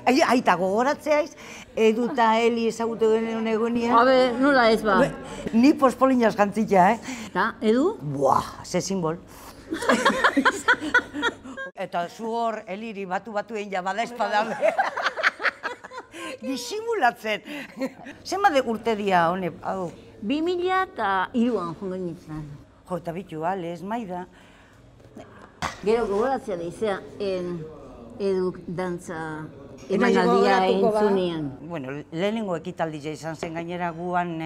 Aita gogoratzeaiz, Edu eta Eli ezagutu genuen egunean. Habe, nola ez ba? Ni pospoliñaz jantzitza, Eta, Edu? Buah, ze simbol. Eta zu hor, Eliri batu egin ja bada espadame. Disimulatzen. Zenbat urte dia hone, hau? 2003an jongo nintzen. Jo, eta bitu, ez maida. Gero gogoratzea da izea, Edu dantza emanaldia entzunean. Bueno, lehenengo ekitaldia izan zen gainera guan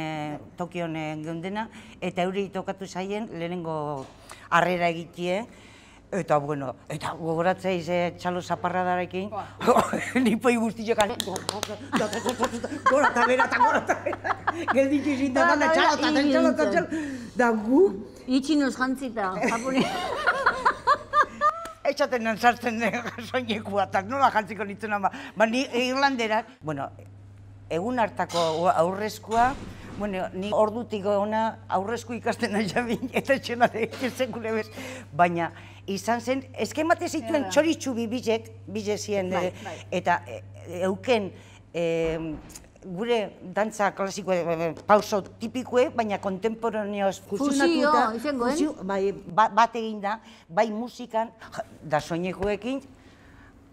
Tokion geundena, eta euri tokatu zaien lehenengo harrera egitie. Eta, bueno, eta gogoratzeiz txalo zaparradarekin, nipoi guztiak gora eta bera, gelditu izin da gana txalo, da gu... Itxinoz jantzita, japone. Etxaten nan sartzen soinekua, eta nola jantziko nintzen ama. Ba, ni Irlanderak, bueno, egun hartako aurrezkoa, bueno, ni ordutik ona aurrezko ikasten nahi jabin, eta etxena sekule bez, baina izan zen, eskemate zituen txoritxubi bize zien, eta euken gure dantza klasikoa, pauso tipikoe, baina kontemporaneoz fusionatuta, bat egin da, bai musikan, da soinekoekin,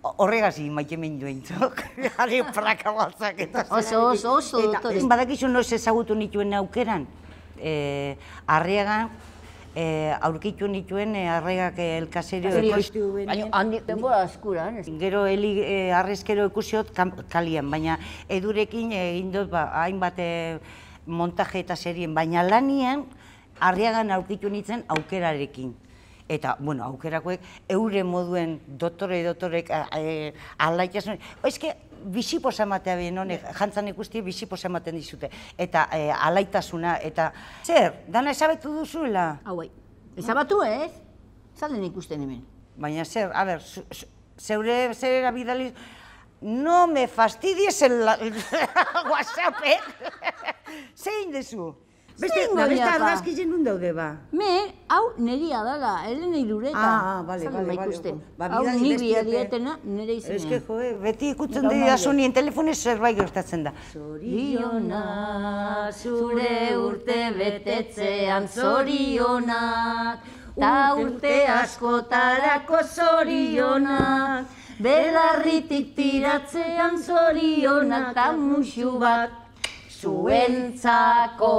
horregaz maite menduen, jare praka baltzak eta oso dotore. Badakizu noiz ezagutu nituen aukeran, Arriagan, aurkitu nituen Arriagak elkaserio ekoiztu bene. Baina handi denbora askuran. Gero Eli arrezkero ikusiot kalian, baina Edurekin egin dut hainbat montaje eta serien, baina lanian Arriagan aurkitu nintzen aukerarekin. Eta, bueno, aukerakoek eure moduen dotorek alaitasun. Ezke, biziposa ematea bien honek, jantzan ikustie biziposa ematen dizute. Eta alaitasuna, eta zer, dana ezabetu duzuela? Hau, ezabatu ez? Zalden ikusten hemen. Baina zer, a ber, zeure zerera bidaliz, no me fastidies el WhatsAppek. Zein dezu? Beste argazkizen nun daude ba? Hau neria dala, Elena Irureta. Bale. Hau niri adietena, nire izenean. Ez que, joe, beti ikutzen didazu nien telefonez zerbait gertatzen da. Zorionak, zure urte betetzean zorionak, ta urte askotarako zorionak, belarritik tiratzean zorionak, ta musu bat zuentzako.